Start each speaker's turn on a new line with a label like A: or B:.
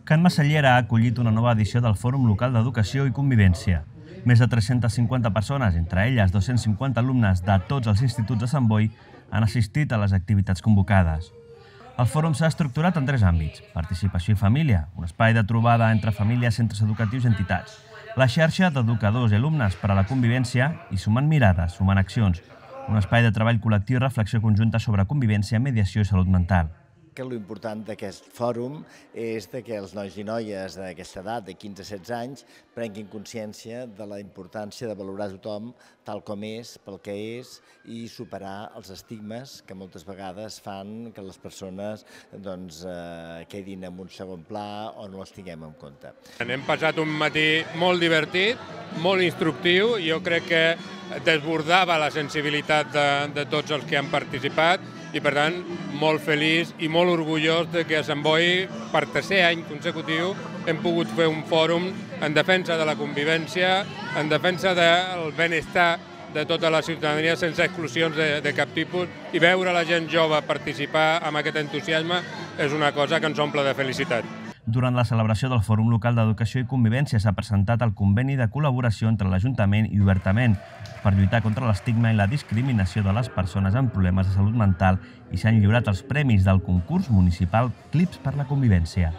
A: Can Masallera ha acollit una nova edició del Fòrum Local d'Educació i Convivència. Més de 350 persones, entre elles 250 alumnes de tots els instituts de Sant Boi, han assistit a les activitats convocades. El fòrum s'ha estructurat en 3 àmbits: participació i família, un espai de trobada entre famílies, centres educatius i entitats, la xarxa d'educadors i alumnes per a la convivència i Sumant Mirades, Sumant Accions, un espai de treball col·lectiu i reflexió conjunta sobre convivència, mediació i salut mental.
B: L'important d'aquest fòrum és que els nois i noies d'aquesta edat, de 15 a 16 anys, prenguin consciència de la importància de valorar tothom tal com és, pel que és, i superar els estigmes que moltes vegades fan que les persones quedin en un segon pla o no els tinguem en compte.
C: Hem passat un matí molt divertit, molt instructiu, jo crec que desbordava la sensibilitat de tots els que han participat, i per tant molt feliç i molt orgullós que a Sant Boi per 3è any consecutiu hem pogut fer un fòrum en defensa de la convivència, en defensa del benestar de tota la ciutadania sense exclusions de cap tipus, i veure la gent jove participar amb aquest entusiasme és una cosa que ens omple de felicitat.
A: Durant la celebració del Fòrum Local d'Educació i Convivència s'ha presentat el conveni de col·laboració entre l'Ajuntament i Obertament per lluitar contra l'estigma i la discriminació de les persones amb problemes de salut mental i s'han lliurat els premis del concurs municipal Clips per la Convivència.